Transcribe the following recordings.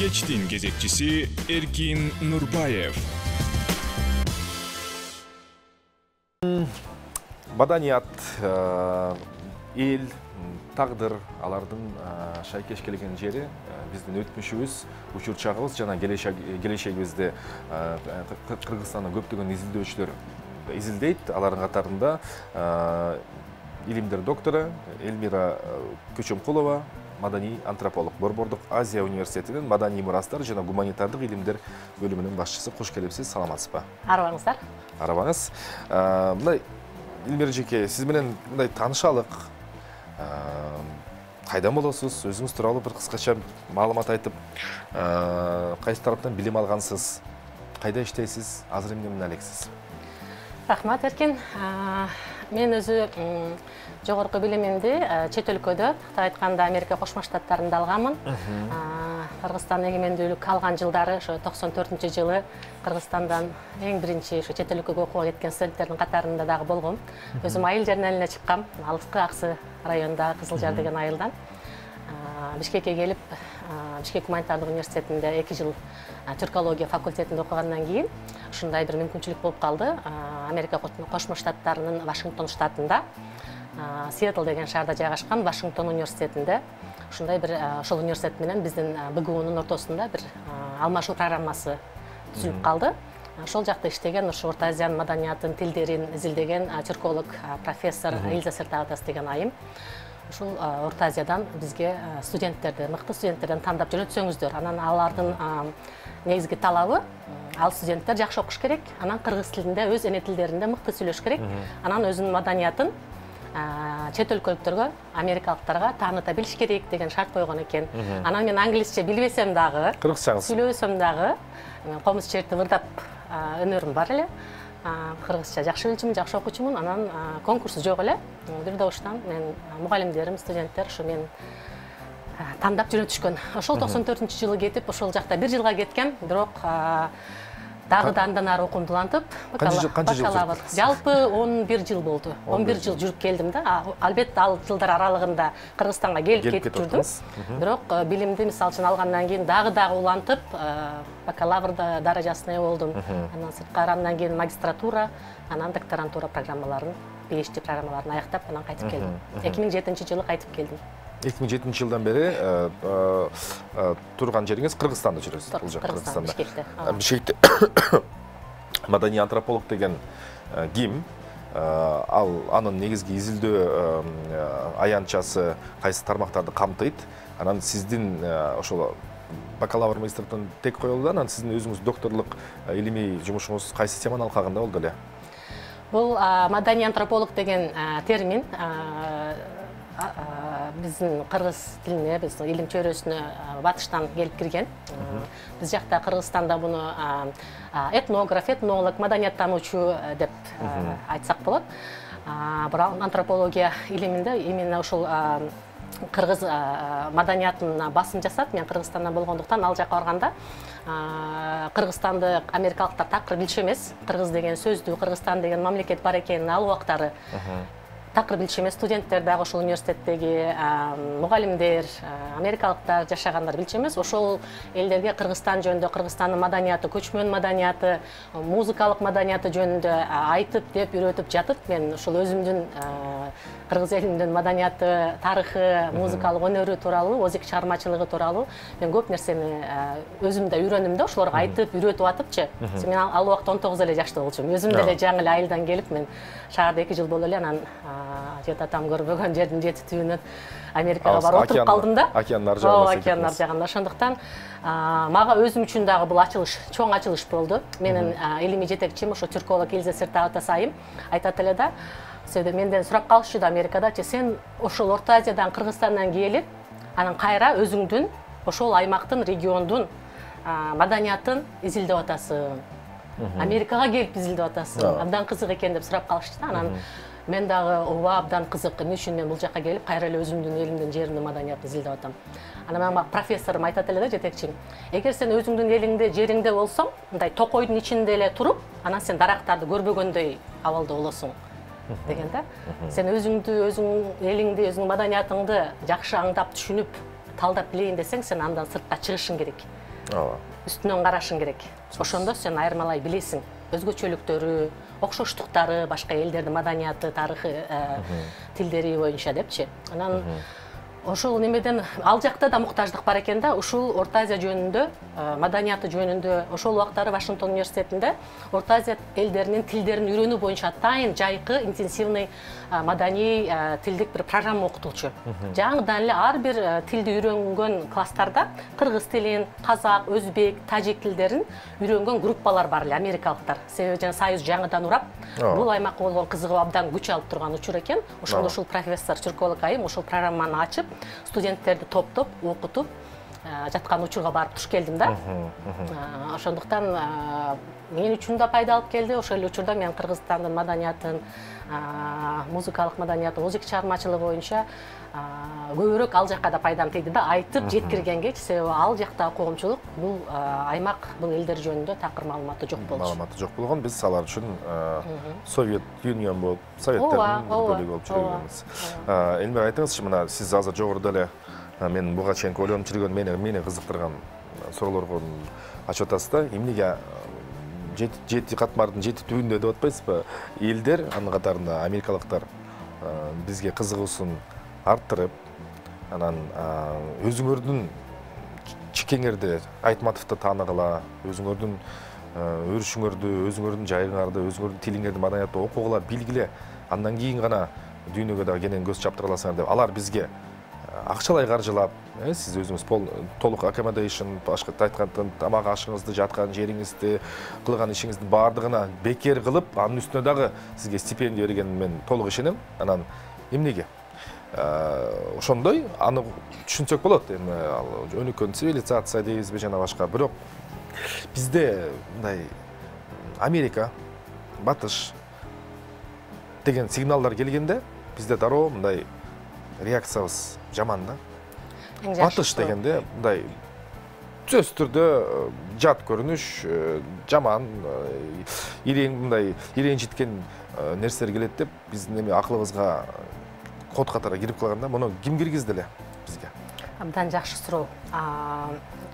Кечтин кезекчиси Эркин Нурбаев. Маданият, эл, тагдыр, алардын шайкеш келген жери биздин өтмүшүбүз, учурчагыбыз жана келечегибизди Кыргызстандын көптөгөн изилдөөчүлөр изилдейт. Алардын катарында илимдер доктору Элмира Көчөмкулова, маданий антрополог, Борбордук Азия университетинин маданий мурастар жана гуманитардык илимдер бөлүмүнүн башчысы. Кош келипсиз, саламатсызбы? Арабаңыздар. Арабаңыз. Мындай Элмира жеке, сиз менен мындай таанышалык. Кайдан болосуз? Өзүңүз тууралуу бир кыскача маалымат айтып, кайсы тараптан билим алгансыз? Кайда иштейсиз? Азыр эмне менен алексиз? Рахмат, Эркин. Мен өзү жогорку билимимди чет өлкөдө, айтканда Америка Кошмо Штаттарында алганмын. Кыргызстан эгемендүүлүк алган жылдары, ошо 94-жылы Кыргызстандан эң биринчи ошо чет өлкөгө окууга кеткен студенттердин катарында дагы болгом. Өзүм айыл жеринен эле чыккам, алыскы Аксы районунда Кызыл Жар деген айылдан. Бишкекке келип, Бишкек гуманитардык университетинде 2 жыл түркология факультетинде окугандан кийин ушундай бир мүмкүнчүлүк болуп калды. Америка Кошмо Штаттарынын Вашингтон штатында, Сиэтл деген шаарда жайгашкан Вашингтон университетинде ушундай бир ошол университет менен биздин БГУнун ортосунда бир алмашуу программасы түзүлүп калды. Ошол жакта иштеген, ошо Орто Азиянын маданиятын, тилдерин изилдеген түрколог профессор Элиза Сертаутас деген айым. Ушул Орто Азиядан бизге студенттерди, мыкты студенттерден тандап жөнөтсөңүздөр. Анан алардын негизги талабы ал студенттер жакшы окуш керек, анан кыргыз тилинде, өз эне тилдеринде мыкты сүйлөш керек. Анан өзүнүн маданиятын чет өлкөлүктөргө, америкалыктарга тааныта билиш керек деген шарт койгон экен. Анан мен англисче билбесем дагы, кыргызчаңыз сүйлөбөсөм дагы, комуз черти ырдап өнөрүм бар эле. Кыргызча жакшы билчүмүн, жакшы окуучумун. Анан конкурс жок эле. Бир добуштан мен мугалимдерим, студенттер ушу мен тандап жөнөтүшкөн. Ошол 94-жылы кетип, ошол жакта 1 жылга кеткем, бирок дагы да андан ары окуумду улантып, канча жыл жүрдүңүз? Жалпы 11 жыл болду. 11 жыл жүрүп келдим да. Албетте ал жылдар аралыгында Кыргызстанга келип кетип жүрдүм. Бирок билимди мисалы үчүн алгандан кийин дагы улантып, бакалаврда даражасына болдум. Андан сырткары андан кийин магистратура, анан докторантура программаларын, PhD программаларын аяктап, анан кайтып келдим. 2007-жылы кайтып келдим. 2007-жылдан бери турган жериңиз Кыргызстанда жүрөсүз. Бул жак Кыргызстанда. Бишкекте. Маданий антрополог деген ким? Ал анын негизги изилдөө аянтчасы кайсы тармактарды камтыйт? Анан сиздин ошол бакалавр магистратурадан тек коюлду, анан сиздин өзүңүз докторлук илимий жумушуңуз кайсы теманын алкагында болду эле? Бул маданий антрополог деген термин биздин кыргыз тилине, биздин илим чөйрөсүнө батыштан келип кирген. Биз жакта Кыргызстанда буну этнограф, этнолог, маданияттануучу деп айтсак болот. Бирок антропология илиминде именно ушул кыргыз маданиятына басым жасап, мен Кыргызстандан болгондуктан ал жака барганда Кыргызстанды америкалыктар такыр билчү эмес. Кыргыз деген сөздү, Кыргызстан деген мамлекет бар экенин ал убактары такыр билчү эмес. Студенттер дагы ошол университеттеги мугалимдер, америкалыктар жашагандар билчү эмес. Ошол элдерге Кыргызстан жөнүндө, Кыргызстандын маданияты, көчмөн маданияты, музыкалык маданияты жөнүндө айтып деп үйрөтүп жатып, мен ошол өзүмдүн кыргыз элинин маданияты, тарыхы, музыкалык өнөрү тууралуу, озик чыгармачылыгы тууралуу мен көп нерсени өзүм да үйрөндүм да, ошолорго айтып, үйрөтүп атыпчы. Мен ал убакта 19 эле жашта болчумун. Өзүм деле жаңы эле айылдан келип, мен шаарда 2 жыл болду эле, анан жет атам көрбөгөн жердин жети түбүнөн Америкага барып отуруп калдым да. Океандын ар жагында. Океандын ар жагында. Ошондуктан мага өзүм үчүн дагы бул ачылыш, чоң ачылыш болду. Менин илимий жетекчим ошо түрколог Элиза Сертаутас айым айтат эле да, менден сурап калышчу да Америкадачы, сен ошол Орто Азиядан, Кыргызстандан келип, анан кайра өзүңдүн ошол аймактын, региондун маданиятын изилдеп атасың. Америкага келип изилдеп атасың. Абдан кызык экен деп сурап калышты да. Анан мен дагы ооба абдан кызык, эмне үчүн мен бул жака келип кайра эле өзүмдүн элимдин, жеримдин маданиятын изилдеп атам. Анан мага профессорум айтат эле да, жетекчим. Эгер сен өзүңдүн элиңде, жериңде болсоң, мындай токойдун ичинде эле туруп, анан сен дарактарды көрбөгөндөй абалда болосуң деген да. Сен өзүңдү, өзүң элиңди, өзүң маданиятыңды жакшы аңдап, түшүнүп, талдап билейин десең, сен андан сыртка чыгышың керек. Үстүнөн карашың керек. Ошондо сен айырмалай билесиң. Өзгөчөлүктөрү, окшоштуктары, башка элдердин маданияты, тарыхы, тилдери боюнча депчи. Анан ошол немеден ал жакта да муктаждык бар экен да. Ушул Орто Азия жөнүндө, маданияты жөнүндө ошол убактары Вашингтон университетинде Орто Азия элдеринин тилдерин үйрөнүү боюнча атайын жайкы интенсивный маданий тилдик бир программа окутуучу. Жаңыдан эле ар бир тилди үйрөнгөн класстарда кыргыз тилин, казак, өзбек, тажик тилдерин үйрөнгөн группалар бар эле, америкалыктар. Себеби жана Союз жаңыдан урап, бул аймакка болгон кызыгуу абдан күч алып турган учур экен. Ошондо ушул профессор Чуркоолук айым ошол программаны ачып, студенттерди топтоп, окутуп жаткан учурга барып туш келдим да. Ошондуктан мен үчүн да пайда алып келди. Ошол эле учурда мен Кыргызстандын маданиятын, музыкалык маданиятын, музыка чыгармачылыгы боюнча көбүрөөк ал жакка да пайдам тийди да, айтып жеткиргенге, себеби ал жактагы коомчулук бул аймак, бул элдер жөнүндө такыр маалыматы жок болчу. Маалыматы жок болгон, биз алар үчүн Совет Юнион болуп, Советтердин бөлүгү болуп жүргөнбүз. Элмира, айтыңызчы, мына сиз азыр жогоруда эле мен буга чейин ойлонуп жүргөн, мени кызыктырган суроолорго ачып атасыз да. Эмнеге жети катмардын жети түбүндө деп атпайсызбы? Элдер, анын катарында америкалыктар бизге кызыгуусун арттырып, анан өзүңөрдүн чикеңерди, Айтматовду тааныгыла, өзүңөрдүн өрүшүңөрдү, өзүңөрдүн жайыңарды, өзүңөрдүн тилиңерди, маданиятты окугула, билгиле, андан кийин гана дүйнөгө да кенен көз чаптыра аласыңар деп алар бизге акчалай каржылап, сиз өзүңүз толук accommodation, башка айтканда тамак ашыңызды, жаткан жериңизди, кылган ишиңиздин баардыгына бекер кылып, анын үстүнө дагы сизге стипендия бергенин мен толук ишенем. Анан эмнеге? Ошондой аны түшүнсөк болот. Эми өнүккөн цивилизация дейбизби жана башка. Бирок бизде мындай Америка, Батыш деген сигналдар келгенде, бизде дароо мындай реакциябыз жаман да. Батыш дегенде мындай сөзсүз түрдө жат көрүнүш, жаман, мындай иренжиткен нерселер келет деп биздин эми акылыбызга код катары кирип калганда, муну ким киргизди эле бизге? Абдан жакшы суроо.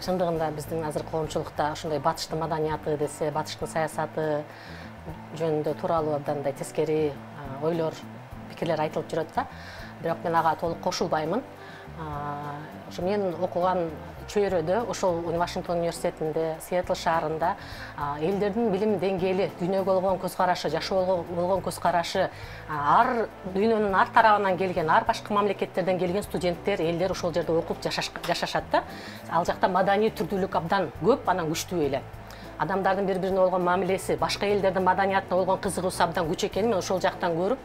Чындыгында биздин азыр коомчулукта ошондой батыштын маданияты десе, батыштын саясаты жөнүндө тууралуу абдан мындай тескери ойлор, пикирлер айтылып жүрөт да. Бирок мен ага толук кошулбаймын. Ошо мен окуган чөйрөдө, ошол Вашингтон университетинде, Сиэтл шаарында элдердин билим деңгээли, дүйнөгө болгон көз карашы, жашоого болгон көз карашы, ар дүйнөнүн ар тарабынан келген, ар башка мамлекеттерден келген студенттер, элдер ошол жерде окуп жашашат да. Ал жакта маданий түрдүүлүк абдан көп, анан күчтүү эле. Адамдардын бири-бирине болгон мамилеси, башка элдердин маданиятына болгон кызыгуусу абдан күч экенин мен ошол жактан көрүп,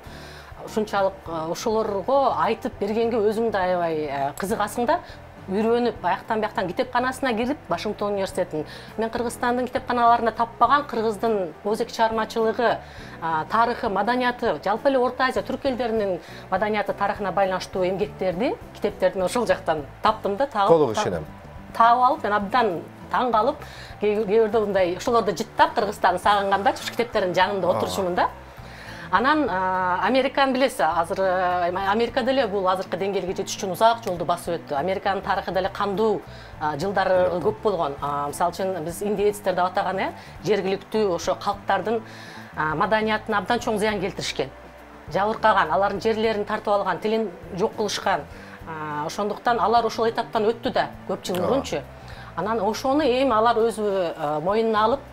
ушунчалык ошолорго айтып бергенге өзүң да аябай кызыгасың да. Үйрөнүп, аяктан бияктан китепканасына кирип, Вашингтон университетинин, мен Кыргызстандын китепканаларында таппаган Кыргыздын музыка чыгармачылыгы, тарыхы, маданияты, жалпы эле Орто Азия, түрк элдеринин маданияты, тарыхына байланыштуу эмгектерди, китептерди мен ошол жактан таптым да, толук ишенем. Таап алып, мен абдан таң калып, кээ бирде мындай ошолорду жыттап Кыргызстанды сагынганда, ушу китептердин жанында отурчумун да. Анан Американы билесиз, азыр Америка деле бул азыркы деңгээлге жетиш үчүн узак жолду басып өттү. Американын тарыхы деле кандуу жылдары көп болгон. Мисалы үчүн биз индеецтер деп атаган жергиликтүү ошо калктардын маданиятына абдан чоң зыян келтиришкен. Жабыркаган, алардын жерлерин тартып алган, тилин жок кылышкан. Ошондуктан алар ошол этаптан өттү да көп жыл мурунчу. Анан ошону эми алар өзү мойнуна алып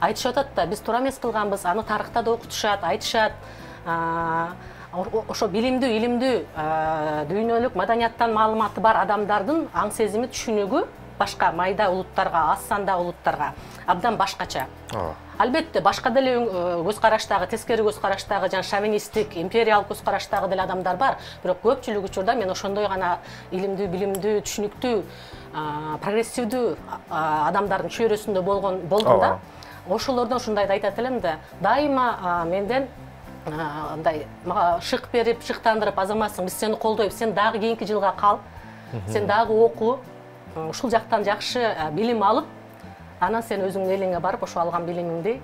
айтышып атат да, биз туура эмес кылганбыз, аны тарыхта да окутушат, айтышат. Ошо билимдүү, илимдүү, дүйнөлүк маданияттан маалыматы бар адамдардын аң сезими, түшүнүгү башка майда улуттарга, аз санда улуттарга абдан башкача. Албетте, башка деле көз караштагы, тескери көз караштагы, жана шовинисттик, империалдык көз караштагы деле адамдар бар. Бирок көпчүлүк учурда мен ошондой гана илимдүү, билимдүү, түшүнүктүү, прогрессивдүү адамдардын чөйрөсүндө болдум да. Ошолордон ушундайды айтат элем да, дайыма менден мындай мага шык берип, шыктандырып, азаматсың, биз сени колдойбуз, сен дагы кийинки жылга кал, сен дагы окуу, ушул жактан жакшы билим алып, анан сен өзүңдүн элиңе барып, ошо алган билимиңди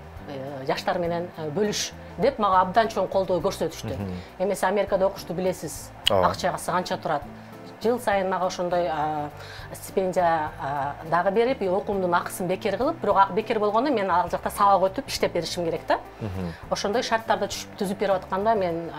жаштар менен бөлүш деп мага абдан чоң колдоо көрсөтүштү. Эмесе Америкада окушту билесиз, акчасы канча турат. жыл сайын мага ошондой стипендия дагы берип, окуумдун акысын бекер кылып, бирок бекер болгондо мен ал жакта сабак өтүп иштеп беришим керек да. Ошондой шарттарда түзүп берип атканда мен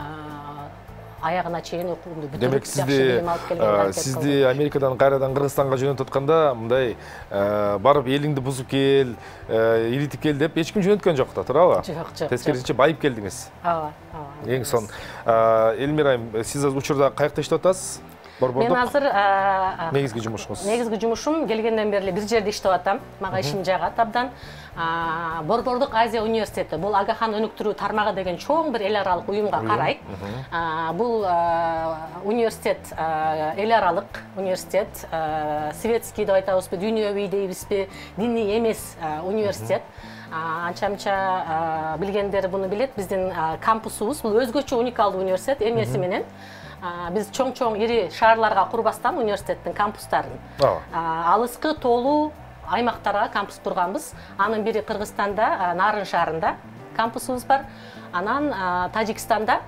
аягына чейин окуумду бүтүрүп, демек сизди Америкадан кайрадан Кыргызстанга жөнөтүп атканда мындай барып элиңди бузуп кел, иритип кел деп эч ким жөнөткөн жок да, туурабы? Жок. Тескерисинче байып келдиңиз. Ооба. Эң сон. Элмира айым, сиз учурда каякта иштеп атасыз? Мен азыр негизги жумушуңуз. Негизги жумушум келгенден бери бир жерде иштеп атам. Мага ишим жагат абдан. Борбордук Азия университети, бул Агахан өнүктүрүү тармагы деген чоң бир эл аралык уюмга карайт. Бул университет эл аралык университет, светский деп айтабызбы, дүйнөбүй дейбизби, диний эмес университет. Анча-мынча билгендер буну билет. Биздин кампусубуз бул өзгөчө уникалдуу университет эмеси менен. Биз чоң ири шаарларга курбастан университеттин кампустарын алыскы тоолуу аймактарга кампус курганбыз. Анын бири Кыргызстанда, Нарын шаарында кампусубуз бар. Анан Тажикстанда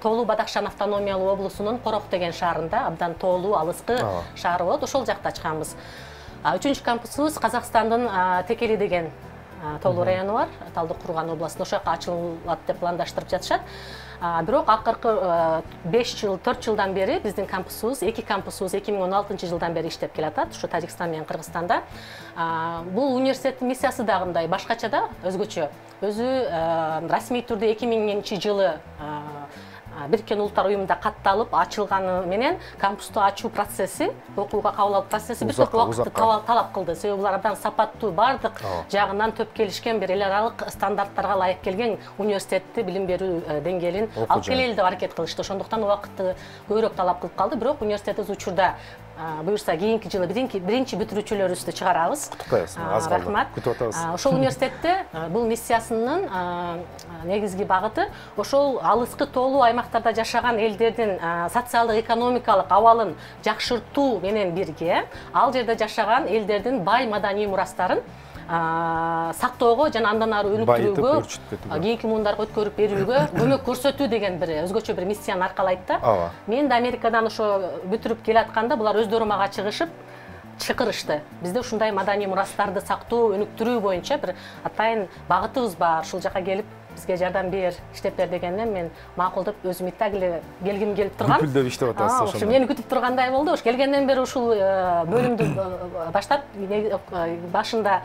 Тоолуу Бадахшан автономиялуу облусунун Корох деген шаарында абдан тоолуу алыскы шаар болот. Ошол жакта ачканбыз. Үчүнчү кампусубуз Казакстандын Текели деген тоолуу району бар. Талдык Курган областында ошол жака ачылат деп пландаштырып жатышат. Бирок акыркы 4 жылдан бери биздин кампусубуз, эки кампусубуз 2016-жылдан бери иштеп келатат, ушу Тажикстан менен Кыргызстанда. Бул университеттин миссиясы дагы мындай башкача да, өзгөчө. Өзү расмий түрдө 2000-жылы Бириккен Улуттар уюмунда катталып ачылганы менен кампусту ачуу процесси, окууга кабыл алуу процесси бир топ убакытты талап кылды. Себеби булар абдан сапаттуу, бардык жагынан төп келишкен бир эл аралык стандарттарга ылайык келген университетти билим берүү деңгээлин алып келели деп аракет кылышты. Ошондуктан убакытты көбүрөөк талап кылып калды. Бирок университетибиз учурда буюрса кийинки жылы биринчи бүтүрүүчүлөрүбүздү чыгарабыз. Куттуктайбыз. Аз калды. Рахмат. Күтүп атабыз. Ошол университетте бул миссиясынын негизги багыты ошол алыскы тоолуу аймактарда жашаган элдердин социалдык экономикалык абалын жакшыртуу менен бирге ал жерде жашаган элдердин бай маданий мурастарын сактоого жана андан ары өнүктүрүүгө, кийинки муундарга өткөрүп берүүгө көмөк көрсөтүү деген бир өзгөчө бир миссияны аркалайт да. Мен да Америкадан ошо бүтүрүп келатканда булар өздөрү мага чакырышты. Бизде ушундай маданий мурастарды сактоо, өнүктүрүү боюнча бир атайын багытыбыз бар. Ушул жака келип бизге жардам бер, иштеп бер дегенден мен макул деп өзүм итак эле келгим келип турган. Күпүлдөп иштеп атасыз ошондо. Мени күтүп тургандай болду. Ош келгенден бери ушул бөлүмдү баштап башында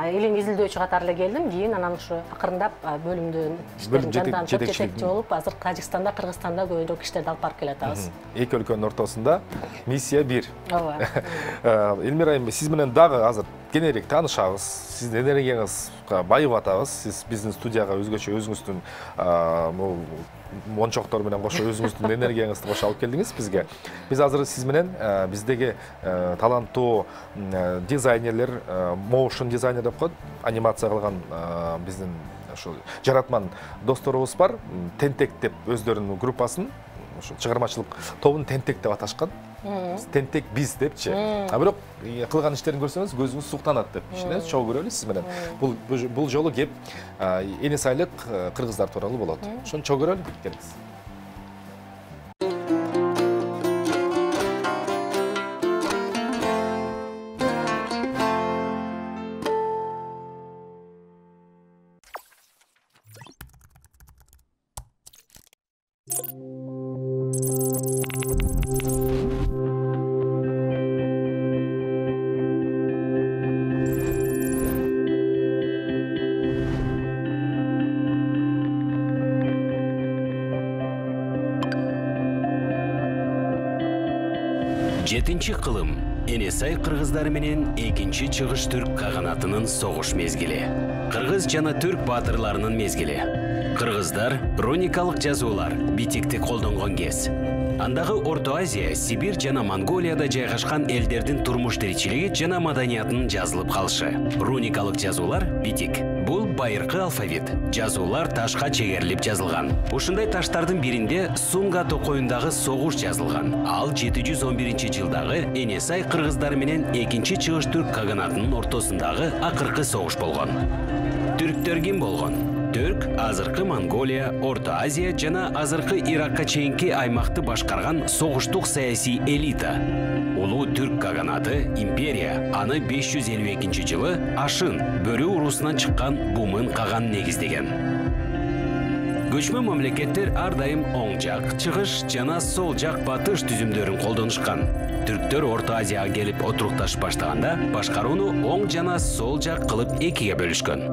элин изилдөөчү катары эле келдим. Кийин анан ушу акырындап бөлүмдүн иштерин жандан жетекчи болуп, азыр Тажикстанда, Кыргызстанда көбүрөөк иштерди алып барып келатабыз. Эки өлкөнүн ортосунда миссия бир. Ооба. Элмира айым, сиз менен дагы азыр кененирээк таанышабыз. Сиздин энергияңыз байып атабыз. Сиз биздин студияга өзгөчө өзүңүздүн мончоктор менен кошо өзүңүздүн энергияңызды кошо алып келдиңиз бизге. Биз азыр сиз менен биздеги таланттуу дизайнерлер, моушн дизайнер деп коет, анимация кылган биздин ошо жаратман досторубуз бар. Тентек деп өздөрүнүн группасын, ошо чыгармачылык тобун Тентек деп аташкан. Тентек биз депчи. Бирок кылган иштерин көрсөңүз көзүңүз суктанат деп ишенебиз. Чогуу көрөлү сиз менен. Бул жолу кеп энес айлык кыргыздар тууралуу болот. Ошону чогуу көрөлү. Келиңиз. Жетинчи кылым Энесай кыргыздары менен экинчи чыгыш түрк каганатынын согуш мезгили. Кыргыз жана түрк баатырларынын мезгили. Кыргыздар руникалык жазуулар, битикти колдонгон кез. Андагы Орто Азия, Сибирь жана Монголияда жайгашкан элдердин турмуш тиричилиги жана маданиятынын жазылып калышы. Руникалык жазуулар, битик. Бул байыркы алфавит. Жазуулар ташка чегерилип жазылган. Ушундай таштардын биринде Сунга токоюндагы согуш жазылган. Ал 711-жылдагы Энесай кыргыздары менен экинчи чыгыш түрк каганатынын ортосундагы акыркы согуш болгон. Түрктөр ким болгон? Түрк азыркы Монголия, Орто Азия жана азыркы Иракка чейинки аймакты башкарган согуштук саясий элита. Улуу түрк каганаты империя аны 552-жылы Ашын Бөрү урусунан чыккан Бумын каган негиздеген. Көчмө мамлекеттер ар дайым оң жак, чыгыш жана сол жак батыш түзүмдөрүн колдонушкан. Түрктөр Орто Азияга келип отурукташып баштаганда башкарууну оң жана сол жак кылып экиге бөлүшкөн.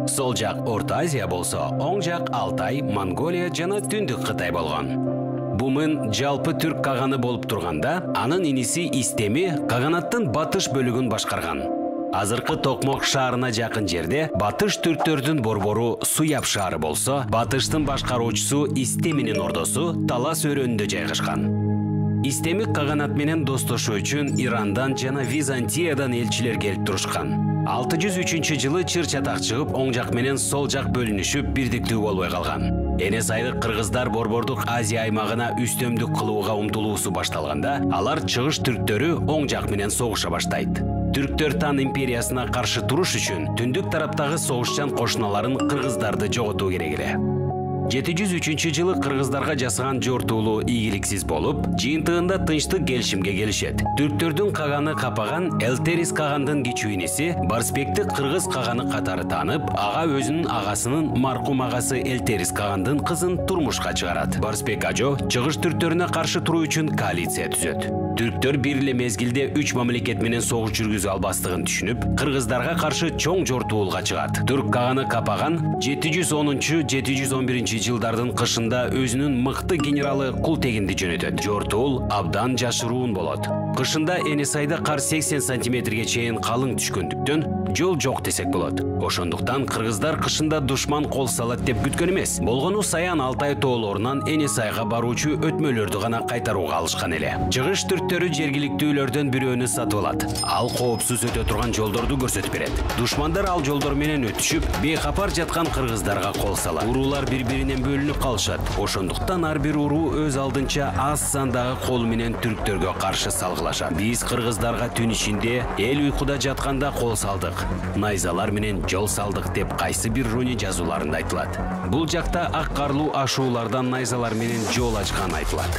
Сол жак Орто Азия болсо, оң жак Алтай, Монголия жана Түндүк Кытай болгон. Бумын жалпы түрк каганы болуп турганда, анын иниси Истеми каганаттын батыш бөлүгүн башкарган. Азыркы Токмок шаарына жакын жерде батыш түрктөрдүн борбору Суяб шаары болсо, батыштын башкаруучусу Истеминин ордосу Талас өрөөнүндө жайгашкан. Истеми каганат менен достошуу үчүн Ирандан жана Византиядан элчилер келип турушкан. 603-жылы чыр чатак чыгып, оң жак менен сол жак бөлүнүшүп, бирдиктүү болбой калган. Эне сайдык кыргыздар борбордук Азия аймагына үстөмдүк кылууга умтулуусу башталганда, алар чыгыш түрктөрү оң жак менен согуша баштайт. Түрктөр Тан империясына каршы туруш үчүн түндүк тараптагы согушчан кошуналарын кыргыздарды жоготуу керек эле. 703-жылы кыргыздарга жасаган жортуулуу ийгиликсиз болуп, жыйынтыгында тынчтык келишимге келишет. Түрктөрдүн каганы капаган Элтерис кагандын кичүү иниси Барсбекти кыргыз каганы катары таанып, ага өзүнүн агасынын маркум агасы Элтерис кагандын кызын турмушка чыгарат. Барсбек ажо чыгыш түрктөрүнө каршы туруу үчүн коалиция түзөт. Түрктөр бир эле мезгилде 3 мамлекет менен согуш жүргүзө албастыгын түшүнүп, кыргыздарга каршы чоң жортуулга чыгат. Түрк каганы капаган 710-711 жылдардын кышында өзүнүн мыкты генералы Култегинди жөнөтөт. Жортуул абдан жашыруун болот. Кышында Энесайда кар 80 сантиметрге чейин калың түшкөндүктөн жол жок десек болот. Ошондуктан кыргыздар кышында душман кол салат деп күткөн эмес. Болгону Саян Алтай тоолорунан Энесайга баруучу өтмөлөрдү гана кайтарууга алышкан эле. Чыгыш түрктөрү жергиликтүүлөрдөн бирөөнү сатып алат. Ал коопсуз өтө турган жолдорду көрсөтүп берет. Душмандар ал жолдор менен өтүшүп, бейкапар жаткан кыргыздарга кол салат. Уруулар бири-биринен бөлүнүп калышат. Ошондуктан ар бир уруу өз алдынча аз сандагы кол менен түрктөргө каршы салгылашат. Биз кыргыздарга түн ичинде эл уйкуда жатканда кол салдык, найзалар менен жол салдык деп кайсы бир руни жазууларында айтылат. Бул жакта ак карлуу ашуулардан найзалар менен жол ачкан айтылат.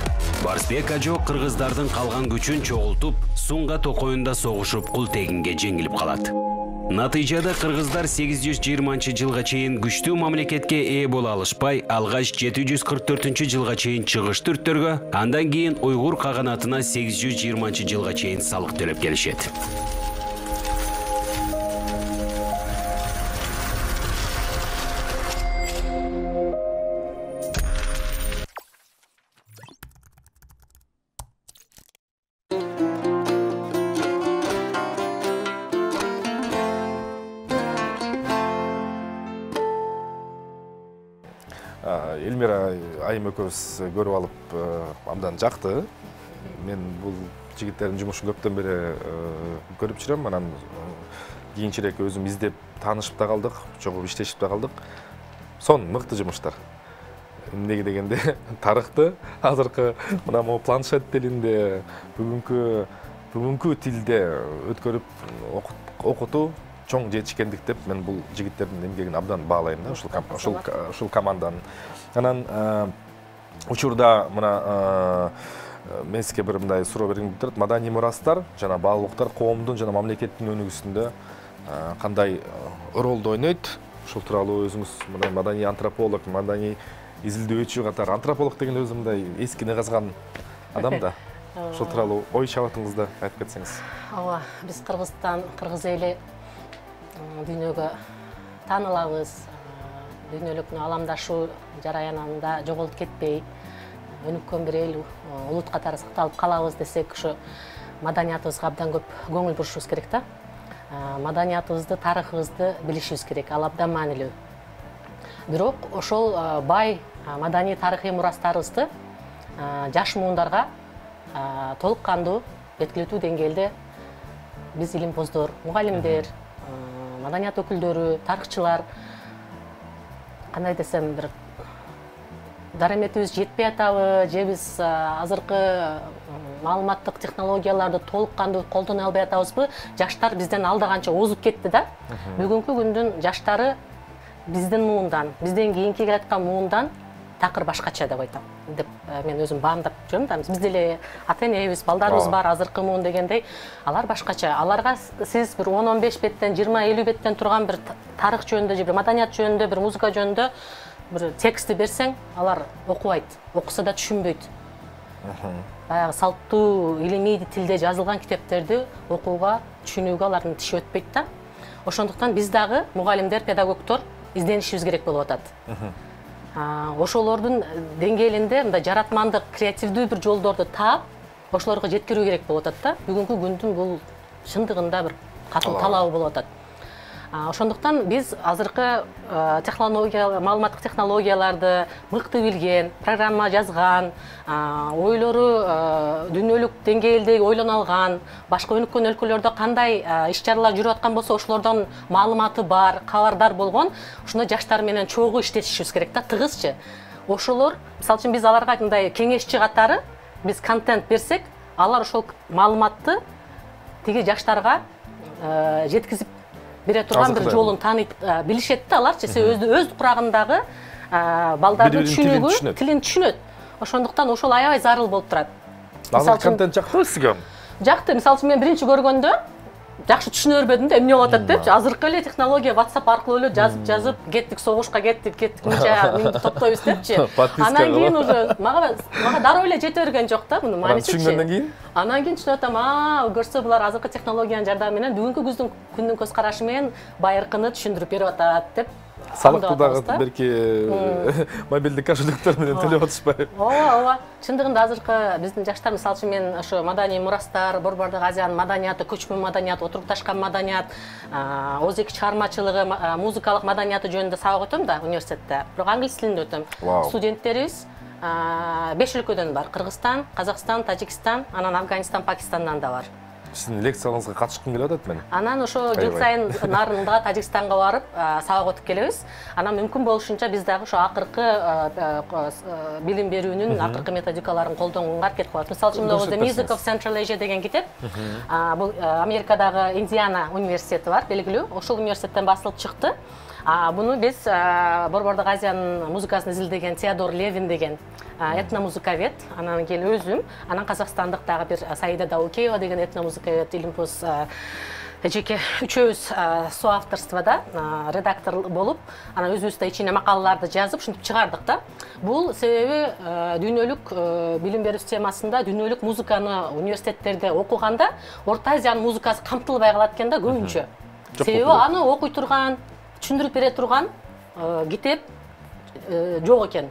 Барсбек ажо кыргыздардын калган күчүн чогултуп, Сунга токоюнда согушуп, Култегинге жеңилип калат. Натыйжада кыргыздар 820-жылга чейин күчтүү мамлекетке ээ боло алышпай, алгач 744-жылга чейин чыгыш түрктөргө, андан кийин уйгур каганатына 820-жылга чейин салык төлөп келишет. Элмира айым экөөбүз көрүп алып абдан жакты. Мен бул жигиттердин жумушун көптөн бери көрүп жүрөм. Анан кийинчерээк өзүм издеп таанышып да калдык, чогуу иштешип да калдык. Сон мыкты жумуштар. Эмнеге дегенде тарыхты азыркы мына могу планшет тилинде бүгүнкү тилде өткөрүп окутуу чоң жетишкендик деп мен бул жигиттердин эмгегин абдан баалайм да, ушул команданын. Анан учурда мына мен сизге бир мындай суроо бергим келип турат. Маданий мурастар жана баалуулуктар коомдун жана мамлекеттин өнүгүүсүндө кандай ролду ойнойт? Ушул тууралуу өзүңүз мына маданий антрополог, маданий изилдөөчү катары, антрополог деген өзү мындай эскини казган адам да. Ушул тууралуу ой чабытыңызды айтып кетсеңиз. Ооба, биз Кыргызстан, кыргыз эли дүйнөгө таанылабыз. Дүйнөлүк аламдашуу жараянында жоголуп кетпей, өнүккөн бир эл, улут катары сакталып калабыз десек, ушу маданиятыбызга абдан көп көңүл бурушубуз керек да. Маданиятыбызды, тарыхыбызды билишибиз керек, ал абдан маанилүү. Бирок ошол бай маданий тарыхый мурастарыбызды жаш муундарга толук кандуу жеткиликтүү деңгээлде биз илимпоздор, мугалимдер, маданият өкүлдөрү, тарыхчылар, кандай десем, бир дараметибиз жетпей атабы, же биз азыркы маалыматтык технологияларды толук кандуу колдоно албай атабызбы? Жаштар бизден алда канча озуп кетти да. Бүгүнкү күндүн жаштары биздин муундан, бизден кийинки келаткан муундан такыр башкача деп айтам деп мен өзүм баамдап жүрөм да. Биз деле ата энебиз, балдарыбыз бар, азыркы муун дегендей, алар башкача. Аларга сиз бир 10-15 беттен, 20-50 беттен турган бир тарых жөнүндө же бир маданият жөнүндө, бир музыка жөнүндө бир текстти берсең, алар окубайт, окуса да түшүнбөйт. Баягы салттуу илимий тилде жазылган китептерди окууга, түшүнүүгө алардын тиши өтпөйт да. Ошондуктан биз дагы мугалимдер, педагогдор изденишибиз керек болуп атат. Ошолордун деңгээлинде мындай жаратмандык, креативдүү бир жолдорду таап, ошолорго жеткирүү керек болуп атат да. Бүгүнкү күндүн бул чындыгында бир катуу талабы болуп атат. Ошондуктан биз азыркы маалыматтык технологияларды мыкты билген, программа жазган, ойлору дүйнөлүк деңгээлде ойлоно алган, башка өнүккөн өлкөлөрдө кандай иш-чаралар жүрүп аткан болсо, ошолордон маалыматы бар, кабардар болгон ушундай жаштар менен чогуу иштешибиз керек да, тыгызчы. Ошолор, мисалы үчүн биз аларга мындай кеңешчи катары биз контент берсек, алар ошол маалыматты тиги жаштарга жеткизип бере турган бир жолун тааныйт, билишет да аларчы. Өз курагындагы балдардын түшүнүүгү, тилин түшүнөт. Ошондуктан ошол аябай зарыл болуп турат. Азыр контент жактыбы сизге? Жакты. Мисалы үчүн мен биринчи көргөндө жакшы түшүнө бербедим да, эмне болуп атат депчи. Азыркы эле технология WhatsApp аркылуу эле жазып, кеттик согушка, кеттик мынча минди топтойбуз депчи. Анан кийин уже мага дароо эле жете берген жок да мунун маанисичи. Түшүнгөндөн кийин? Анан кийин түшүнүп атам, көрсө булар азыркы технологиянын жардамы менен бүгүнкү күндүн көз карашы менен байыркыны түшүндүрүп берип атат деп. Салыкты дагы берки мобилдик кошелектер менен төлөп атышпайбы? Ооба. Чындыгында азыркы биздин жаштар, мисалы үчүн мен ошо маданий мурастар, Борбордук Азиянын маданияты, көчмөн маданият, отурукташкан маданият, ооз-эки чыгармачылыгы, музыкалык маданияты жөнүндө сабак өтөм да университетте. Бирок англис тилинде өтөм. Студенттерибиз 5 өлкөдөн бар. Кыргызстан, Казакстан, Тажикстан, анан Афганистан, Пакистандан да бар. Сиздин лекцияларыңызга катышкым келип атат мен. Анан ошо жыл сайын нарында Тажикстанга барып, сабак өтүп келебиз. Анан мүмкүн болушунча биз дагы ошо акыркы билим берүүнүн акыркы методикаларын колдонууга аракет кылабыз. Мисалы үчүн The Music of Central Asia деген китеп, бул Америкадагы Индиана университети бар, белгилүү. Ошол университеттен басылып чыкты. Буну биз Борбордук Азиянын музыкасын изилдеген Теодор Левин деген этномузыкавед, анан кийин өзүм, анан казакстандык дагы бир Саида Даукеева деген этномузыкавед, Илимпоз жеке үчөөбүз соавторствода редактор болуп, анан өзүбүз ичине макалаларды жазып, ушинтип чыгардык да. Бул себеби дүйнөлүк билим берүү системасында дүйнөлүк музыканы университеттерде окуганда Орто Азиянын музыкасы камтылбай калат экен да көбүнчө. Себеби аны окуй турган, түшүндүрүп бере турган китеп жок экен.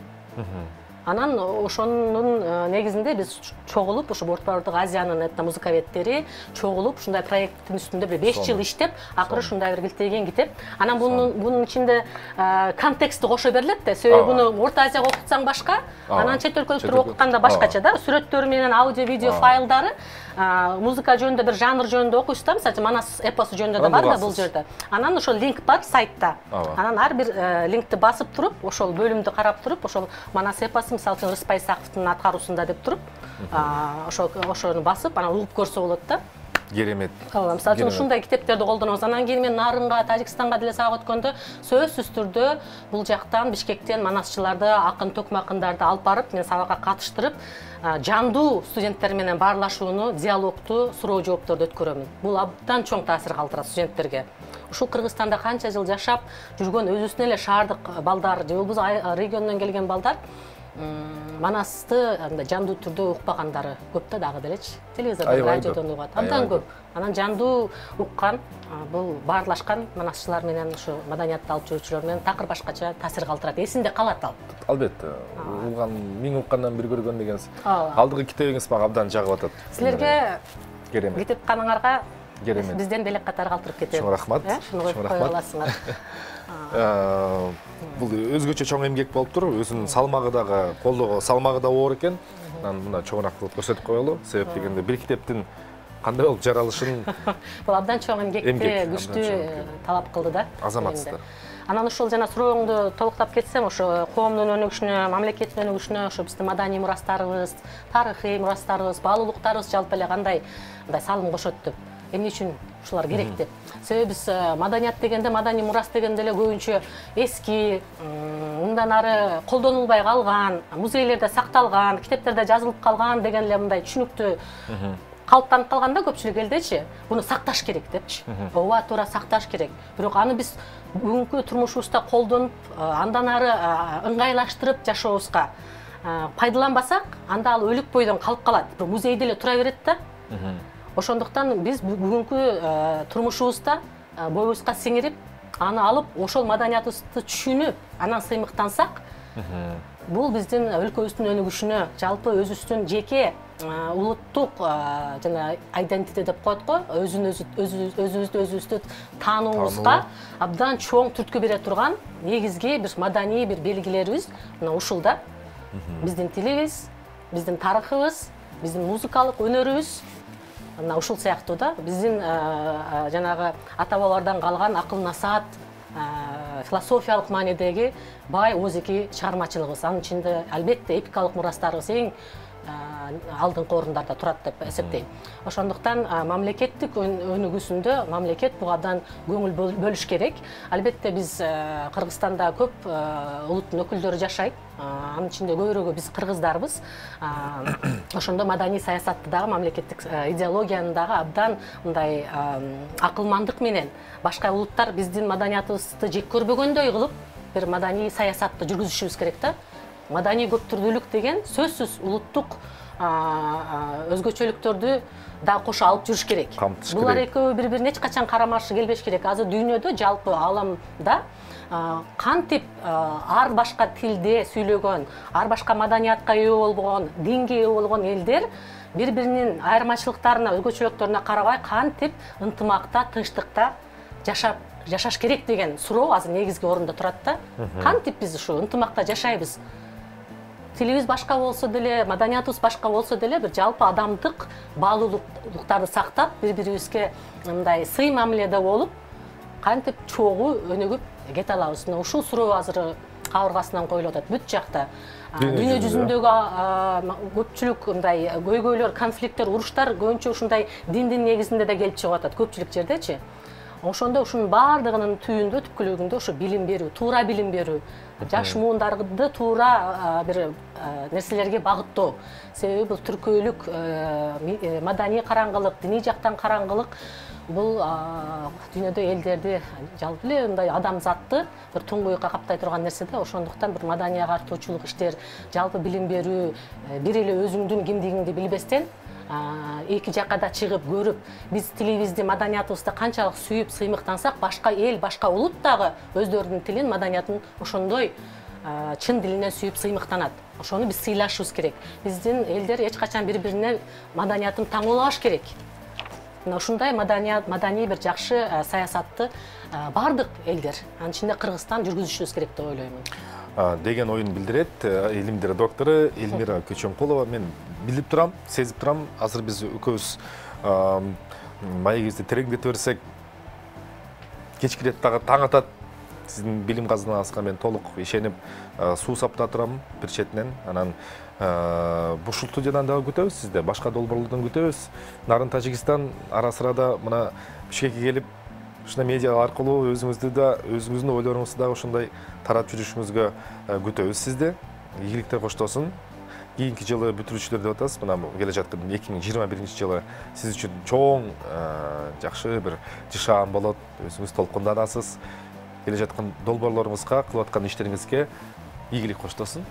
Анан ошонун негизинде биз чогулуп, ошо Борбордук Азиянын этномузыкаведтери чогулуп, ушундай проекттин үстүндө бир 5 жыл иштеп, акыры ушундай бир килтейген китеп. Анан бунун ичинде контексти кошо берилет да. Себеби буну Орто Азияга окутсаң башка, анан чет өлкөлүктөр окутканда башкача да. Сүрөттөрү менен аудио, видео файлдары, музыка жөнүндө бир жанр жөнүндө окуйсуз да, мисалы Манас эпосу жөнүндө да бар да бул жерде. Анан ошол линк бар сайтта. Анан ар бир линкти басып туруп, ошол бөлүмдү карап туруп, ошол Манас эпосу мисалы үчүн Рыспай Саковдун аткаруусунда деп туруп, ошону басып, анан угуп көрсө болот да. Керемет. Ооба, мисалы үчүн ушундай китептерди колдонобуз. Анан кийин мен Нарынга, Тажикстанга деле сабак өткөндө сөзсүз түрдө бул жактан Бишкектен манасчыларды, акын токмакындарды алып барып, мен сабакка катыштырып, жандуу студенттер менен баарлашууну, диалогту, суроо жоопторду өткөрөмүн. Бул абдан чоң таасир калтырат студенттерге. Ушул Кыргызстанда канча жыл жашап жүргөн өзүбүздүн эле шаардык балдар, же болбосо региондон келген балдар Манасты жандуу түрдө укпагандары көп да дагы делечи. Телевизордон, радиодон угат. Абдан көп. Анан жандуу уккан, бул баарлашкан манасчылар менен ушу маданиятты алып жүрүүчүлөр менен такыр башкача таасир калтырат. Эсинде калат ал. Албетте. Улган, миң уккандан бир көргөн дегенсиз. Алдыгы китебиңиз мага абдан жагып атат. Силерге керемет. Китепканыңарга керемет. Бизден делек катары калтырып кетет. Чоң рахмат. Чоң рахмат. Бул өзгөчө чоң эмгек болуптур. Өзүнүн салмагы дагы, колдого салмагы да оор экен. Анан мына чоңураак кылып көрсөтүп коелу. Себеп дегенде бир китептин кандай болуп жаралышын бул абдан чоң эмгекти күчтүү талап кылды да. Азаматсыздар. Анан ушул жана сурооңду толуктап кетсем, ошо коомдун өнүгүшүнө, мамлекеттин өнүгүшүнө, ошо биздин маданий мурастарыбыз, тарыхый мурастарыбыз, баалуулуктарыбыз жалпы эле кандай салым кошот деп эмне үчүн ушулар керек деп. Себеби биз маданият дегенде, маданий мурас дегенде эле көбүнчө эски, мындан ары колдонулбай калган, музейлерде сакталган, китептерде жазылып калган деген эле мындай түшүнүктүү калыптанып калган да көпчүлүк элдечи. Буну сакташ керек депчи. Ооба, туура сакташ керек. Бирок аны биз бүгүнкү турмушубузда колдонуп, андан ары ыңгайлаштырып жашообузга пайдаланбасак, анда ал өлүк бойдон калып калат. Музейде эле тура берет да. Ошондуктан биз бүгүнкү турмушубузда боюбузга сиңирип, аны алып, ошол маданиятыбызды түшүнүп, анан сыймыктансак, бул биздин өлкөбүздүн өнүгүшүнө, жалпы өзүбүздүн жеке улуттук жана identity деп коет го, өзүбүздү таануубузга абдан чоң түрткү бере турган негизги бир маданий бир белгилерибиз мына ушул да. Биздин тилибиз, биздин тарыхыбыз, биздин музыкалык өнөрүбүз мына ушул сыяктуу да. Биздин жанагы ата бабалардан калган акыл насаат, философиялык маанидеги бай озеки чыгармачылыгыбыз. Анын ичинде албетте эпикалык мурастарыбыз эң алдыңкы орундарда турат деп эсептейм. Ошондуктан мамлекеттик өнүгүүсүндө мамлекет буга абдан көңүл бөлүш керек. Албетте биз Кыргызстанда көп улуттун өкүлдөрү жашайт. Анын ичинде көбүрөөгү биз кыргыздарбыз. Ошондо маданий саясатты дагы, мамлекеттик идеологияны дагы абдан мындай акылмандык менен башка улуттар биздин маданиятыбызды жек көрбөгөндөй кылып бир маданий саясатты жүргүзүшүбүз керек да. Маданий көптүрдүүлүк деген сөзсүз улуттук өзгөчөлүктөрдү да кошо алып жүрүш керек. Булар экөө бири-бирине эч качан карама-каршы келбеш керек. Азыр дүйнөдө, жалпы ааламда кантип ар башка тилде сүйлөгөн, ар башка маданиятка ээ болгон, динге ээ болгон элдер бири-биринин айырмачылыктарына, өзгөчөлүктөрүнө карабай кантип ынтымакта, тынчтыкта жашаш керек деген суроо азыр негизги орунда турат да. Кантип биз ушу ынтымакта жашайбыз? Тилибиз башка болсо деле, маданиятыбыз башка болсо деле, бир жалпы адамдык баалуулуктарды сактап, бири-бирибизге мындай сый мамиледе болуп, кантип чогуу өнүгүп кете алабыз? Ушул суроо азыр кабыргасынан коюлуп атат бүт жакта. Дүйнө жүзүндөгү көпчүлүк мындай көйгөйлөр, конфликттер, уруштар көбүнчө ушундай диндин негизинде да келип чыгып атат көпчүлүк жердечи. Ошондо ушунун баардыгынын түйүндө, түпкүлүгүндө ушу билим берүү, туура билим берүү, жаш муундарды туура бир нерселерге багыттоо. Себеби бул түркөйлүк, маданий караңгылык, диний жактан караңгылык бул дүйнөдө элдерди, жалпы эле мындай адамзатты бир туңгуюкка каптай турган нерсе да. Ошондуктан бир маданий агартуучулук иштер, жалпы билим берүү, бир эле өзүңдүн кимдигиңди билбестен эки жакка да чыгып көрүп, биз тилибизди, маданиятыбызды канчалык сүйүп, сыймыктансак, башка эл, башка улут дагы өздөрүнүн тилин, маданиятын ошондой чын дилинен сүйүп сыймыктанат. Ошону биз сыйлашыбыз керек. Биздин элдер эч качан бири-бирине маданиятын таңоолабаш керек. Мына ушундай маданий бир жакшы саясатты бардык элдер, анын ичинде Кыргызстан жүргүзүшүбүз керек деп ойлоймун. Деген оюн билдирет илимдер доктору Эльмира Көчөмкулова. Мен билип турам, сезип турам. Азыр биз экөөбүз маегибизди тереңдете берсек, кечкирет дагы таң атат. Сиздин билим казынаңызга мен толук ишенип, суу саптап турам бир четинен. Анан ушул студиядан дагы күтөбүз сизди, башка долбоорлордон күтөбүз. Нарын Тажикстан ара сырада мына Бишкекке келип, ушундай медиа аркылуу өзүңүздүн ойлоруңузду дагы ушундай таратып жүрүшүңүзгө күтөбүз сизди. Ийгиликтер коштолсун. Кийинки жылы бүтүрүүчүлөр деп атасыз. Мына келе жаткан 2021-жылы сиз үчүн чоң жакшы бир жышаан болот. Өзүңүз толкунданасыз. Келе жаткан долбоорлоруңузга, кылып аткан иштериңизге ийгилик коштолсун.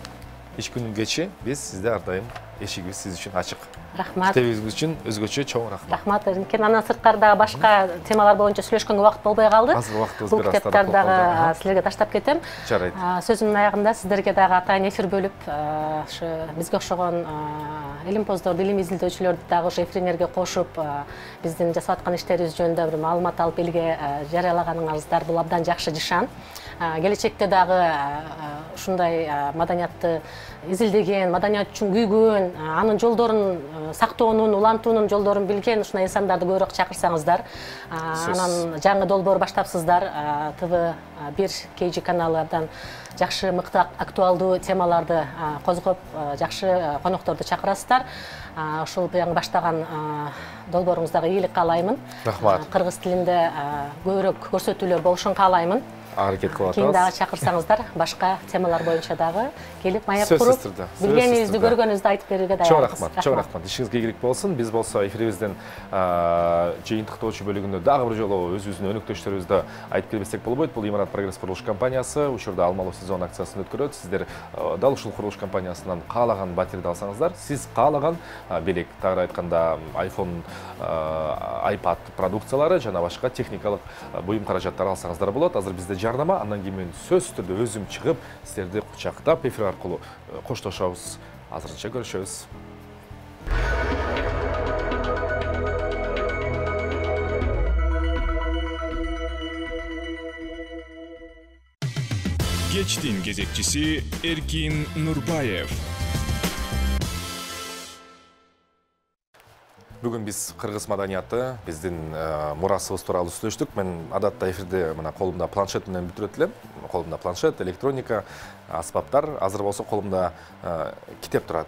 Иш күнүн кечи биз сизде ар дайым эшигибиз сиз үчүн ачык. Рахмат. Китебиңиз үчүн өзгөчө чоң рахмат. Рахмат. Анан сырткарда башка темалар боюнча сүйлөшкөнгө убакыт болбой калды. Азыр убактыбыз бул китептарды дагы силерге таштап кетем. Жарайт. Сөзүмдүн аягында сиздерге дагы атайын эфир бөлүп, ушу бизге окшогон илимпоздорду, илим изилдөөчүлөрдү дагы ушу эфириңерге кошуп, биздин жасап аткан иштерибиз жөнүндө бир маалымат алып элге жарыялаганыңыздар бул абдан жакшы жышаан. Келечекте дагы ушундай маданиятты изилдеген, маданият үчүн күйгөн, анын жолдорун сактоонун, улантуунун жолдорун билген ушундай инсандарды көбүрөөк чакырсаңыздар, анан жаңы долбоор баштапсыздар, ТВ1 KG каналынан жакшы, мыкты, актуалдуу темаларды козгоп, жакшы конокторду чакырасыздар. ушул баштаган долбооруңуздагы ийгилик каалаймын. Рахмат. Кыргыз тилинде көбүрөөк көрсөтүүлөр болушун каалаймын. Аракет кылып Кийин атабыз. дагы чакырсаңыздар, башка темалар боюнча дагы келип маек Сөзсүз куруп, түрдө. билгениңизди, көргөнүңүздү айтып берүүгө даярбыз. Чоң рахмат. Ишиңизге ийгилик болсун. Биз болсо эфирибиздин жыйынтыктоочу бөлүгүндө дагы бир жолу өзүбүздүн өнөктөштөрүбүздү айтып кетсек болбойт. Бул Имарат Прогресс курулуш компаниясы учурда алмалуу сезон акциясын өткөрөт. Сиздер дал ушул курулуш компаниясынан каалаган батирди алсаңыздар, сиз каалаган белек, тагыраак айтканда iPhone, iPad продукциялары жана башка техникалык буюм каражаттар алсаңыздар болот. Азыр бизде жарнама, андан кийин мен сөзсүз түрдө өзүм чыгып, сиздерди кучактап эфир аркылуу коштошобуз. Азырынча көрүшөбүз. Кечтин кезекчиси Эркин Нурбаев. Бүгүн биз кыргыз маданияты, биздин мурасыбыз тууралуу сүйлөштүк. Мен адатта эфирде мына колумда планшет менен бүтүрөт элем. Колумда планшет, электроника, аспаптар. Азыр болсо колумда китеп турат.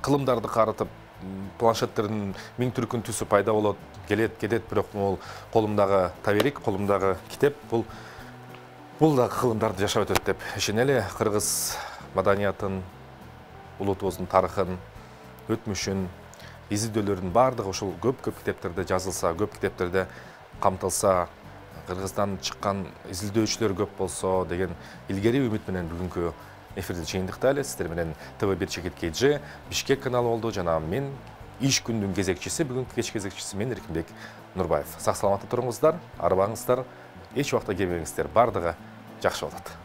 Кылымдарды карытып, планшеттердин миң түркүн түсү пайда болот, келет, бирок бул колумдагы таберик, колумдагы китеп бул да кылымдарды жашап өтөт деп ишенели. Кыргыз маданиятын, улутубуздун тарыхын, өтмүшүн, изилдөөлөрдүн баардыгы ушул көп китептерде жазылса, көп китептерде камтылса, Кыргыздан чыккан изилдөөчүлөр көп болсо деген илгери үмүт менен бүгүнкү эфирди чыйындыктайлы. Сиздер менен ТВ1 Чекит KG Бишкек каналы болду жана мен иш күндүн кезекчиси, бүгүнкү кеч кезекчиси мен Эркинбек Нурбаев. Сак саламатта туруңуздар, арбаңыздар, эч убакта келбеңиздер, баардыгы жакшы болот.